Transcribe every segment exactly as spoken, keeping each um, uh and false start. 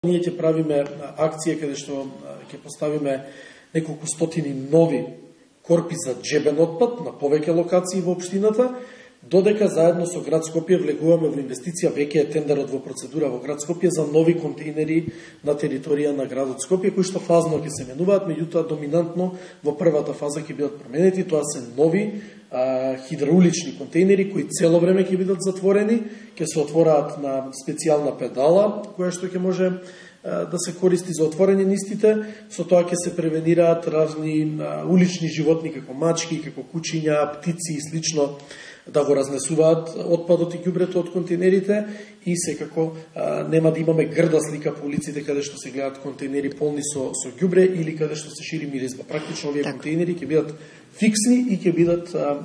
Ние ќе правиме акција каде што ќе поставиме неколку стотини нови корпи за джебен отпад на повеќе локации во општината, додека заедно со град Скопје влегуваме во инвестиција, веќе е тендерот во процедура во град Скопје за нови контейнери на територија на градот Скопје, кои што фазно ќе се менуваат, меѓутоа доминантно во првата фаза ќе бидат променети. Тоа се нови а, хидраулични контейнери кои цело време ќе бидат затворени, ќе се отвораат на специјална педала која што ќе може а, да се користи за отворање нистите. Со тоа ќе се превенираат разни а, улични животни како мачки, како кучиња, птици и слично, да го разнесуваат отпадот и ѓубрето од контейнерите, и секако а, нема да имаме грда слика по улиците каде што се гледат контейнери полни со со ѓубре или каде што се шири миризба. Практично овие так. контейнери ќе бидат фиксни и ќе бидат а,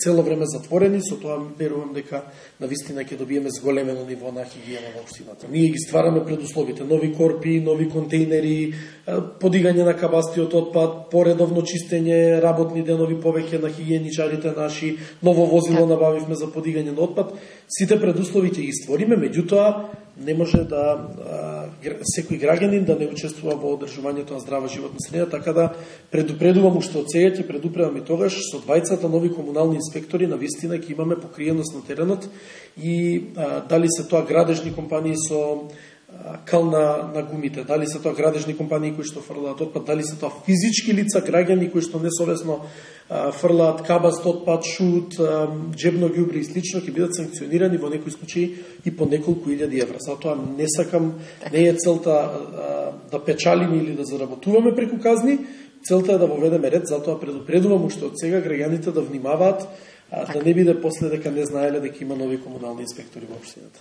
цело време затворени. Со тоа верувам дека навистина ќе добиеме зголемено ниво на хигиена во општината. Ние ги ствараме предусловите: нови корпи, нови контейнери, подигање на кабастиот отпад, поредовно чистење, работни денови повеќе на хигиеничарите наши, ново возило набавивме за подигање на отпад. Сите предуслови ќе ги створиме, меѓутоа не може да а, секој граѓанин да не учествува во одржувањето на здрава животна средина, така да предупредувам уште од сега, ќе предупредувам и тогаш, со двајцата нови комунални инспектори навистина ќе имаме покриеност на теренот, и а, дали се тоа градежни компании со кал на, на гумите, дали се тоа градежни компании кои што фрлаат отпад, дали се тоа физички лица, граѓани кои што несовесно а, фрлаат кабаст отпад, шут, а, джебно ѓубре и слично, ќе бидат санкционирани во некои случаи и по неколку илјади евра. Затоа не сакам, не е целта а, да печалиме или да заработуваме преку казни, целта е да воведеме ред. Затоа предупредувам уште од сега граѓаните да внимаваат, а, да не биде после дека не знаеле дека има нови комунални инспектори во општината.